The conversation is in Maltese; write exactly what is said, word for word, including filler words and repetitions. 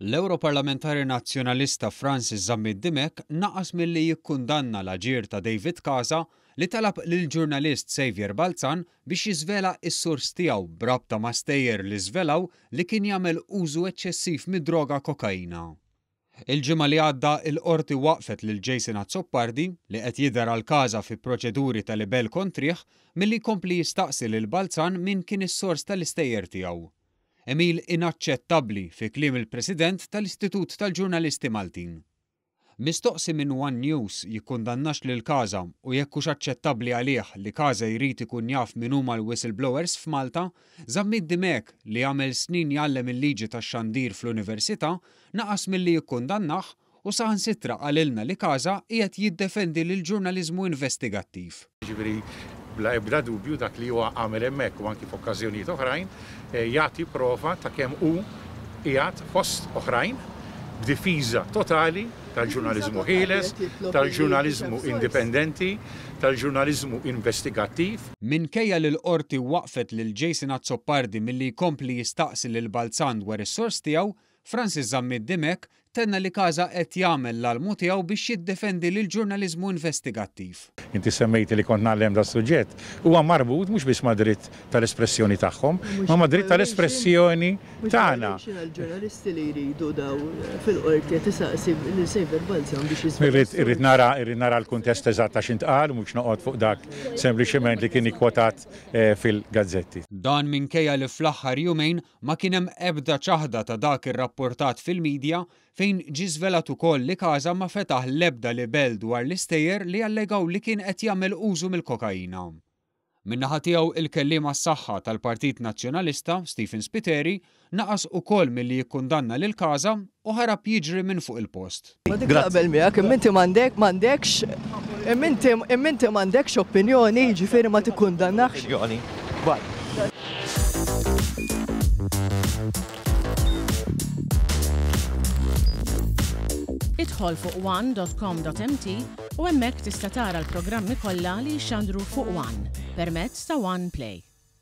L-Ewroparlamentari Nazzjonalista Francis Zammit Dimech naqas milli jikkundanna l-aġir ta' David Casa li talab lill-ġurnalist Saviour Balzan biex jiżvela s-sors tiegħu b'rabta ma' stejjer li żvelaw li kien jagħmel użu eċċessiv mid-droga kokaina. Il-ġimgħa li għadda il-qorti waqfet lil Jason Azzopardi, li qed jidher għal Casa fi proċeduri ta' libell kontrih, milli jkompli jistaqsi lil Balzan min kien is-sors tal-istejjer tiegħu. Għemil inaċċettabbli fi kliem il-President tal-Istitut tal-Ġurnalisti Maltin. Mistoqsi minn One News jikkundannax lil Casa u jekk hux aċċettabbli għalih li Casa jrid ikun jaf min huma l-whistleblowers f'Malta, Zammit Dimech, li għamel snin jgħallem il-liġi tax-xandir fl-università, naqas milli jikkundannah u saħansitra qalilna li Casa qiegħed jiddefendi lill-ġurnaliżmu investigattiv. Ġifieri bla ebda dubju dak li huwa għamel hemmhekk u anki f'okkażjonijiet oħrajn jagħti prova ta' kemm hu qiegħed fost oħrajn b'difiża totali tal-ġurnaliżmu ħieles, tal-ġurnaliżmu indipendenti, tal-ġurnaliżmu investigattiv. Minkejja li l-qorti waqfet lil Jason Azzopardi milli jkompli jistaqsi lil Balzan dwar is-sors tiegħu, Francis Zammit Dimech tenna li Casa qed jagħmel l-almu tiegħu biex jiddefendi lil ġurnaliżmu investigattiv. Inti semmejti li kont ngħallem da suġġett, huwa marbut mhux biss ma' dritt tal-espressjoni tagħhom, ma ma' dritt tal-espressjoni tagħna. Ġurnalisti li jridu daw fil-qorti qed isaqsi lil Saviour Balzan biex jiżvela. Irrid nara, irrid nara l-kuntest eżatt ta' x'intqal, mhux noqgħod fuq dak sempliċement li kien ikkwotat fil-gazzetti. Dan minkejja li fl-aħħar jumejn ma kien hemm ebda ċaħda ta' dak irrapportat fil-medja fejn ġie żvelat ukoll li Casa ma fetaħ l-ebda libell dwar l-istejjer li allegaw li kien qed jagħmel użu mill-kokaina. Min-naħa tiegħu il-kelliem għas-saħħa tal-Partit Nazzjonalista, Stephen Spiteri, naqas ukoll milli jikkundanna lil Casa u ħarab jiġri minn fuq il-post. Ma dik naqbel miegħek, imma inti m'għandek, m'għandekx, imma inti, imma inti m'għandekx opinjoni, jiġifieri ma tikkundannax. Opinjoni. Idħol fuq one dot com dot m t u hemmhekk tista' tara l-programmi kollha li jxandru fuq One permezz ta' One Play.